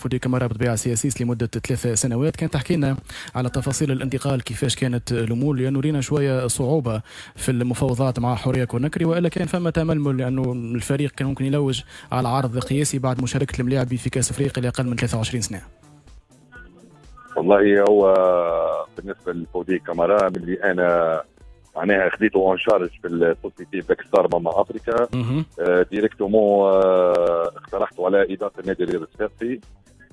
فودي كامارا بطبيعة CSS لمدة 3 سنوات. كان تحكي لنا على تفاصيل الانتقال، كيفاش كانت الامور، لانه رينا شوية صعوبة في المفاوضات مع حورية كوناكري، والا كان فما تململ لانه الفريق كان ممكن يلوج على عرض قياسي بعد مشاركة الملاعبي في كاس افريقيا لاقل من 23 سنه. والله هو بالنسبة لفودي كامارا، من انا معناها خذيته en charge في ال société Black Star ماما افريكا، directement اقترحته على ادارة النادي الرياضي الصفاقسي،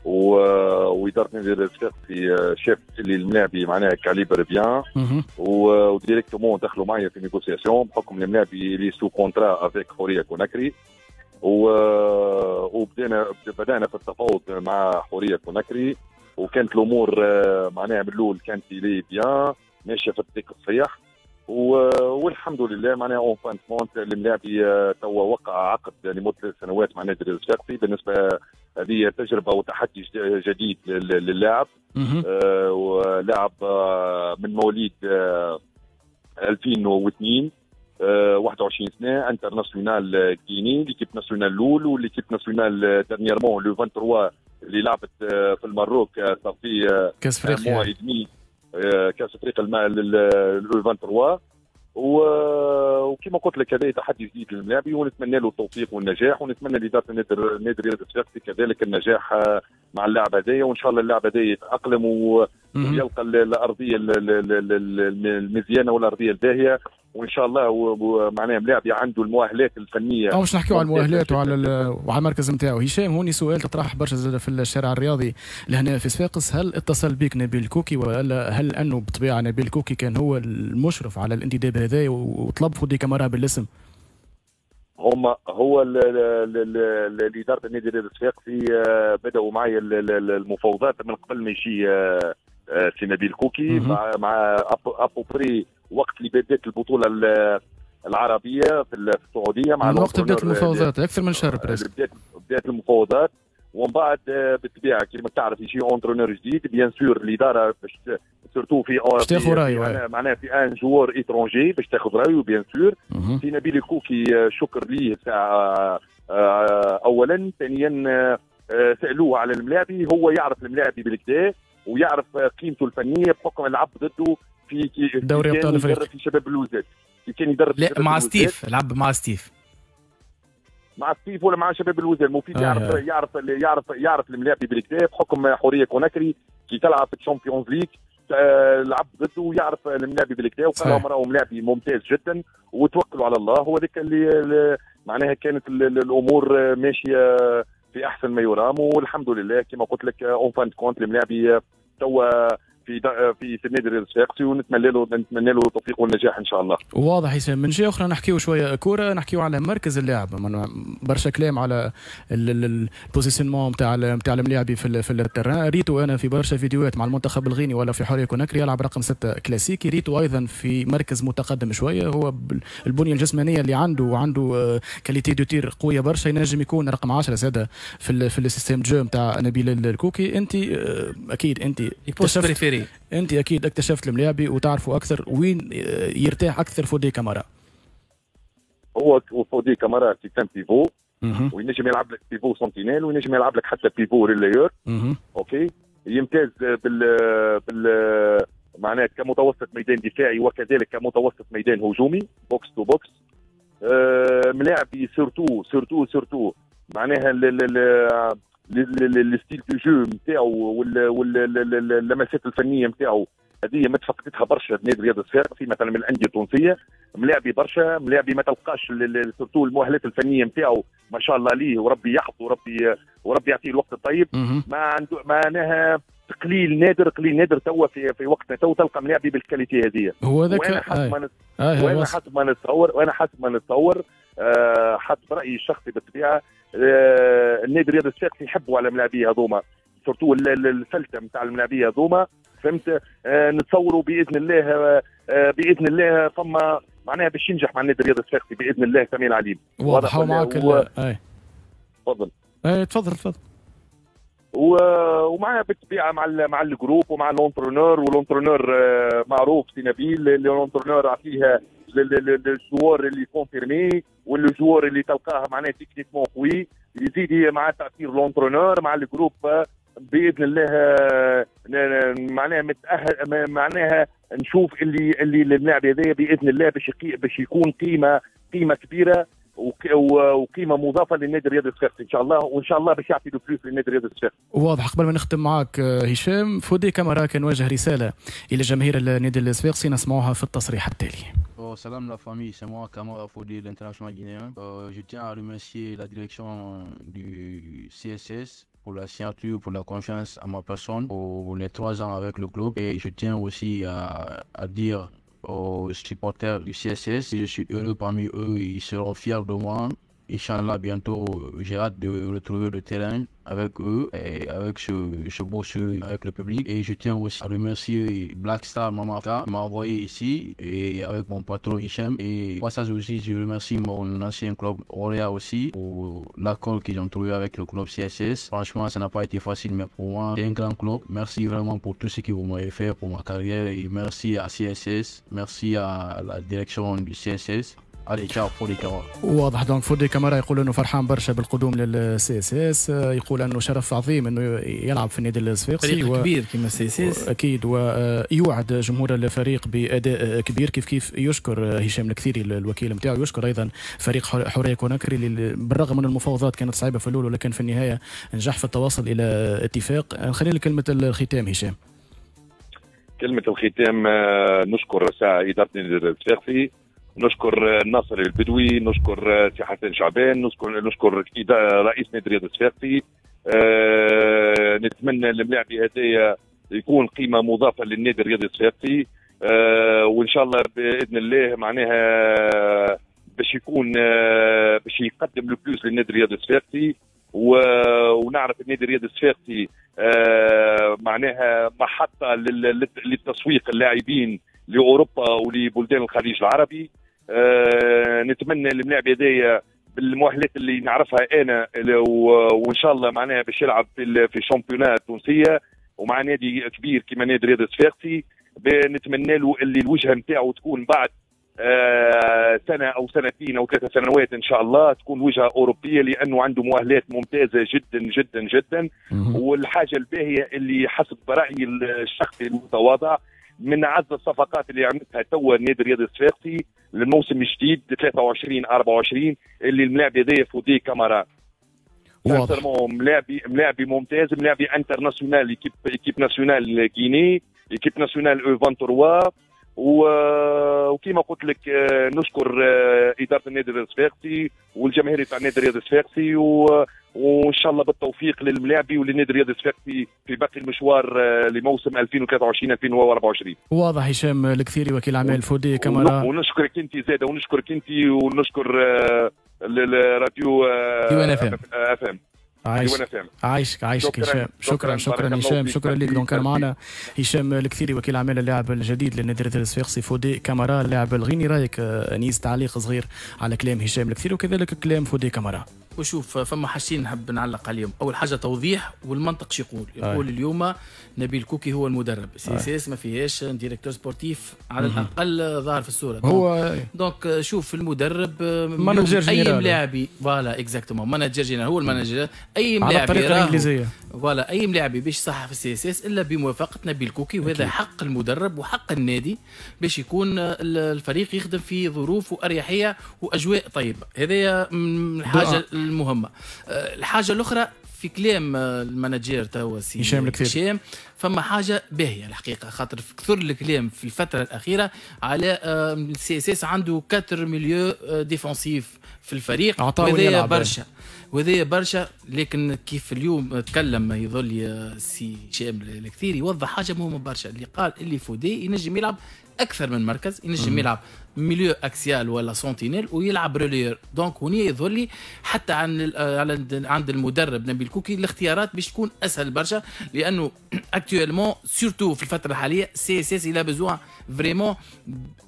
واداره النادي الرياضي الصفاقسي شافت اللي الملاعبي معناها calibre bien، و directement دخلوا معايا في négociation بحكم الملاعبي اللي sous contrat avec حورية كوناكري، وبدانا في التفاوض مع حورية كوناكري، وكانت الامور معناها من الاول كانت لي bien ماشية في الطريق الصحيح، والحمد لله معناها en fin de compte الملاعبي توا وقع عقد لمدة 3 سنوات مع نادي الصفاقسي. بالنسبة هذه تجربه وتحدي جديد للاعب، ولاعب من مواليد 2002، 21 سنه، international guinéen، l'équipe nationale الاول و l'équipe nationale dernièrement les 23 اللي لعبت في المروك في كاس افريقيا. كاس افريقيا les 23. وكما قلت لك، هذا تحدي جديد للملاعبي، ونتمنى له التوفيق والنجاح، ونتمنى لادارة النادي الرياضي الصفاقسي كذلك النجاح مع اللاعب هذايا، وان شاء الله اللاعب هذايا يتاقلم ويلقى الارضية المزيانه والارضيه الباهيه، وان شاء الله معناها ملاعب عنده المؤهلات الفنيه. او باش نحكيو على المؤهلات وعلى المركز نتاعو. هشام، هوني سؤال تطرح برشا زاد في الشارع الرياضي لهنا في صفاقس: هل اتصل بك نبيل كوكي، ولا هل انه بطبيعة نبيل كوكي كان هو المشرف على الانتداب هذا وطلب فودي كامارا بالاسم؟ هما هو الادارة النادي الرياضي الصفاقسي بداوا معي المفاوضات من قبل ما يجي سي نبيل كوكي، مع à peu près وقت اللي بدات البطولة العربية في السعوديه. مع وقت بدات المفاوضات اكثر من شهر. presque بدات المفاوضات، ومن بعد بالطبيعة كما تعرف يجي entraîneur جديد، bien sûr الادارة باش surtout في باش تاخذ رايه. معناها في un joueur étranger باش تاخذ رايه. bien sûr في نبيل الكوكي شكر ليه ساعة اولا، ثانيا سالوه على الملاعبي، هو يعرف الملاعبي بالكدا ويعرف قيمته الفنية بحكم لعب ضده في دوري ابطال افريقيا. في شباب بلوزداد كان يدرب. لا، مع ستيف، لعب مع ستيف. مع ستيف ولا مع شباب بلوزداد، المفيد يعرف الملاعبي بالكدا بحكم حورية كوناكري كي تلعب في ال Champions League لعب ضده، ويعرف الملاعبي بالكدا، وقال لهم راهو ملاعبي ممتاز جدا وتوكلوا على الله. هو ذاك اللي معناها كانت الامور ماشية في احسن ما يرام، والحمد لله كما قلت لك en fin de compte الملاعبي توا في النادي الرياضي الصفاقسي، ونتمنى له التوفيق والنجاح ان شاء الله. واضح هشام. من جهة اخرى نحكيو شوية كوره، نحكيو على مركز اللاعب. برشا كلام على ال positionnement نتاع الملاعبي في ال terrain. ريتو انا في برشا فيديوهات مع المنتخب الغيني ولا في حورية كوناكري يلعب رقم 6 كلاسيكي، ريتو ايضا في مركز متقدم شويه. هو البنية الجسمانية اللي عنده، وعنده qualité de tir قوية برشا، ينجم يكون رقم 10 زاده في ال système de jeu نتاع نبيل الكوكي. انت اكيد انت اكتشفت انت اكيد اكتشفت الملاعبي وتعرفوا اكثر، وين يرتاح اكثر فودي كامارا؟ هو فودي كامارا c'est un pivot، وينجم يلعب لك pivot sentinelle، وينجم يلعب لك حتى pivot relayeur. OK، يمتاز بال معناها كمتوسط ميدان دفاعي وكذلك كمتوسط ميدان هجومي، box to box. ملاعبي surtout surtout surtout معناها ال style de jeu نتاعو واللمسات الفنية نتاعو هذه ما تفقدتها برشا نادي الرياضي الصفاقسي مثلا من الاندية التونسيه. ملاعبي برشا، ملاعبي ما تلقاش surtout المؤهلات الفنية نتاعو ما شاء الله عليه، وربي يحفظه وربي يعطيه الوقت الطيب. ما عنده معناها قليل نادر، قليل نادر توا في وقتنا تو تلقى ملاعبي بال qualité هذه. هو ذاك. وانا حسب ما نتصور، حسب رايي الشخصي بالطبيعه، النادي الرياضي الصفاقسي يحبوا على الملاعبيه هذوما، surtout الفلته نتاع الملاعبيه هذوما، فهمت؟ نتصوروا باذن الله باذن الله فما معناها باش ينجح مع النادي الرياضي الصفاقسي باذن الله سميع العليم. واضح معك. تفضل. اي، تفضل تفضل. ومعها بالطبيعة مع ال groupe ومع l'entraîneur، وال entraîneur معروف سي نبيل، l'entraîneur عطيها لل joueur اللي confirmé وال joueur اللي تلقاه معناه techniquement قوي، يزيد مع تاثير l'entraîneur مع ال groupe. باذن الله معناها متاهل، معناها نشوف اللي اللاعب هذايا باذن الله باش يكون قيمة كبيرة وقيمه مضافة للنادي الرياضي الصفاقسي ان شاء الله، وان شاء الله باش يعطي le plus للنادي الرياضي الصفاقسي. واضح. قبل ما نختم معك هشام، فودي كامارا كان وجه رسالة الى جماهير النادي الصفاقسي، نسمعوها في التصريح التالي. سلام la famille, c'est moi Camara Fodé, l'international guinéen. Je tiens à remercier la direction du CSS pour la signature, pour la confiance à ma personne, pour les 3 ans avec le club. Et je tiens aussi à dire aux supporters du CSS, je suis heureux parmi eux, ils seront fiers de moi. إن شاء الله, bientôt, j'ai hâte de retrouver le terrain avec eux et avec ce beau sourire avec le public. Et je tiens aussi à remercier Black Star Mama qui m'a envoyé ici et avec mon patron Hichem. Et au passage aussi, je remercie mon ancien club Orea aussi pour l'accord qu'ils ont trouvé avec le club CSS. Franchement, ça n'a pas été facile, mais pour moi, c'est un grand club. Merci vraiment pour tout ce que vous m'avez fait pour ma carrière et merci à CSS, merci à la direction du CSS. Allez, ciao فودي كامارا. واضح. donc فودي كامارا يقول انه فرحان برشا بالقدوم لل CSS، يقول انه شرف عظيم انه يلعب في النادي الصفاقسي. فريق كبير كما CSS. اكيد، ويوعد جمهور الفريق باداء كبير. كيف كيف يشكر هشام الكثيري الوكيل نتاعو، يشكر ايضا فريق حورية كوناكري اللي بالرغم من المفاوضات كانت صعيبة في الاول، ولكن في النهاية نجح في التواصل الى اتفاق. نخلي لك كلمة الختام هشام. كلمة الختام، نشكر ساعة ادارة النادي الصفاقسي، نشكر ناصر البدوي، نشكر سي حسن شعبان، نشكر رئيس نادي الرياضي الصفاقسي. نتمنى الملاعب هذايا يكون قيمة مضافة للنادي الرياضي الصفاقسي، وان شاء الله باذن الله معناها باش يكون باش يقدم le plus للنادي الرياضي الصفاقسي. ونعرف النادي الرياضي الصفاقسي معناها محطة للتسويق اللاعبين لاوروبا ولبلدان الخليج العربي. نتمنى الملاعب هذايا بالمؤهلات اللي نعرفها انا، وان شاء الله معناها باش يلعب في ال championnat التونسية ومع نادي كبير كما نادي الرياضي الصفاقسي. نتمنى له اللي الوجهة نتاعو تكون بعد سنة او سنتين او 3 سنوات ان شاء الله تكون وجهه اوروبيه، لانه عنده مؤهلات ممتازة جدا جدا جدا. والحاجة الباهيه اللي حسب رايي الشخصي المتواضع من اعز الصفقات اللي عملتها توا النادي الرياضي الصفاقسي للموسم الجديد 23 24 اللي الملاعب هذايا فودي كامارا. واضح. ملاعبي ممتاز، ملاعبي international، équipe nationale Guinée، équipe nationale U23. وكما قلت لك نشكر ادارة النادي الصفاقسي والجماهير تاع النادي الرياضي الصفاقسي، وان شاء الله بالتوفيق للملاعبي وللنادي الرياضي الصفاقسي في باقي المشوار لموسم 2023 2024. واضح. هشام الكثيري، وكيل اعمال فودي كامارا. ونشكرك انت زاده، ونشكرك انت ونشكر الراديو ديوان اف ام. اف ام. عايشك عايشك عايشك هشام، شكرا شكرا هشام، شكرا لك. donc كان معنا هشام الكثيري، وكيل اعمال اللاعب الجديد للنادي الرياضي الصفاقسي فودي كامارا، اللاعب الغيني. رايك انيس، تعليق صغير على كلام هشام الكثيري وكذلك كلام فودي كامارا. وشوف، فما حاجتين نحب نعلق عليهم. اول حاجة توضيح والمنطق شو يقول. يقول اليوم نبيل كوكي هو المدرب، CSS ما فيهاش directeur sportif على الاقل ظاهر في الصوره. هو donc شوف، المدرب manager. اي ملاعبي، voilà exactement، manager général، هو ال manager. اي ملاعبي على الطريقة الانجليزيه. voilà، اي ملاعبي باش يصحح في ال CSS الا بموافقة نبيل كوكي، وهذا حق المدرب وحق النادي باش يكون الفريق يخدم في ظروف واريحيه واجواء طيبه. هذه الحاجة المهمه. الحاجة الاخرى، في كلام ال manager توا سي هشام الكثير، هشام، فما حاجة باهيه الحقيقه، خاطر كثر الكلام في الفترة الاخيرة على ال CSS عنده 4 milieux défensifs في الفريق، وهذا برشا وهذا برشا. لكن كيف اليوم تكلم يظل سي هشام الكثير يوضح حاجة مهمة برشا، اللي قال اللي فودي ينجم يلعب اكثر من مركز، ينجم يلعب milieu axial ولا sentinelle ويلعب relayeur. donc هنا يظهر لي حتى عن على عند المدرب نبيل كوكي الاختيارات باش تكون اسهل برشا، لانه actuellement surtout في الفترة الحالية CSS il a besoin vraiment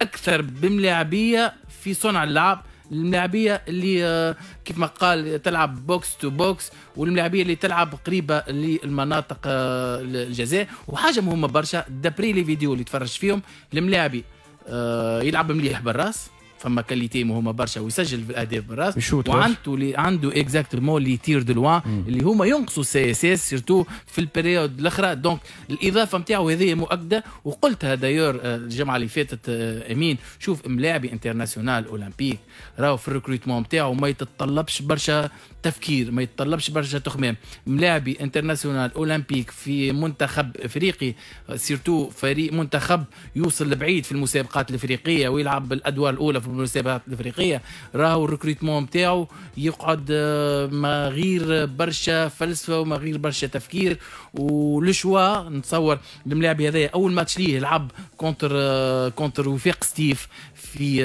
اكثر بملاعبيه في صنع اللعب، الملاعبيه اللي كيف ما قال تلعب box to box، والملاعبيه اللي تلعب قريبه للمناطق الجزاء. وحاجه مهمة برشا، d'après les vidéos اللي تفرج فيهم، الملاعبي يلعب مليح بالراس. فما qualité مهمة برشا ويسجل في الاهداف بالراس، وعنده exactement les tirs de loin اللي هما ينقصوا CSS surtout في ال période الاخرى. donc الاضافة نتاعو هذه مؤكده، وقلتها d'ailleurs الجمعة اللي فاتت امين، شوف ملاعبي international olympique راهو في ال recrutement نتاعو ما يتطلبش برشا تفكير، ما يتطلبش برشا تخمام. ملاعبي international olympique في منتخب افريقي، surtout فريق منتخب يوصل لبعيد في المسابقات الافريقية ويلعب بالادوار الاولى في المسابقات الافريقيه، راهو ال recrutement نتاعو يقعد ما غير برشا فلسفة وما غير برشا تفكير. و le choix نتصور الملاعبي هذايا اول ماتش ليه لعب contre وفاق ستيف في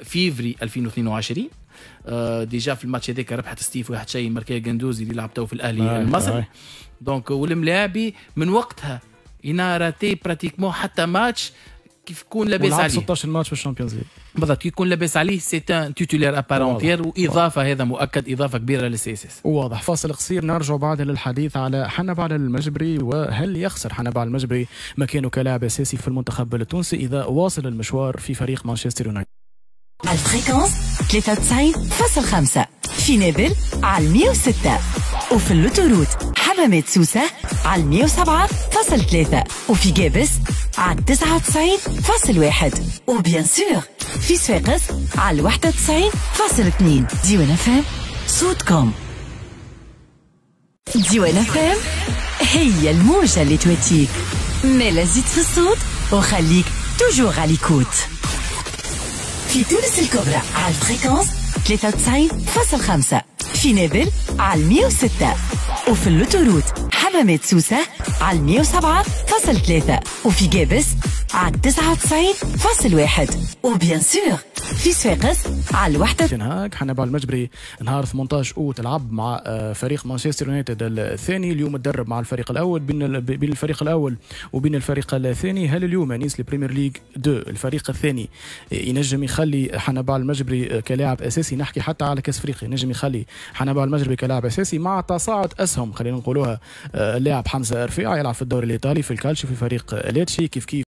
فيفري 2022. Déjà في الماتش هذاك ربحت ستيف 1-0، ماركا جندوزي اللي لعب تو في الاهلي المصري. donc والملاعبي من وقتها il n'a raté pratiquement حتى ماتش كيف يكون لاباس عليه. 16 ماتش في ال Champions League. بالضبط، كي يكون لاباس عليه c'est un titulaire à part entière، واضافه هذا مؤكد اضافه كبيرة لل CSS. واضح. فاصل قصير، نرجع بعد للحديث على حنبعل المجبري، وهل يخسر حنبعل المجبري مكانه كلاعب اساسي في المنتخب التونسي اذا واصل المشوار في فريق مانشستر يونايتد. على ال fréquence 93.5 في نابل على 106، وفي l'autoroute حمامات سوسة على 107.3، وفي قابس على 99.1، و bien sûr في صفاقس على 91.2. ديوان FM صوتكم. ديوان FM هي الموجة اللي تواتيك، مالا زيد في الصوت وخليك toujours à l'écoute. في تونس الكبرى على ال fréquence 93.5 في نابل على 106، وفي l'autoroute حمامات سوسة على 107.3، وفي قابس على 99.1، و bien sûr في صفاقس على الوحدة. تنهاك حنبعل المجبري نهار 18 اوت لعب مع فريق مانشستر يونايتد الثاني، اليوم تدرب مع الفريق الاول. بين الفريق الاول وبين الفريق الثاني، هل اليوم انيس ال Premier League 2 الفريق الثاني ينجم يخلي حنبعل المجبري كلاعب اساسي؟ نحكي حتى على كاس افريقيا، ينجم يخلي حنبعل المجبري كلاعب اساسي مع تصاعد اسهم، خلينا نقولوها، اللاعب حمزة رفيعة يلعب في الدوري الايطالي في الكالتشيو في فريق ليتشي كيف كيف.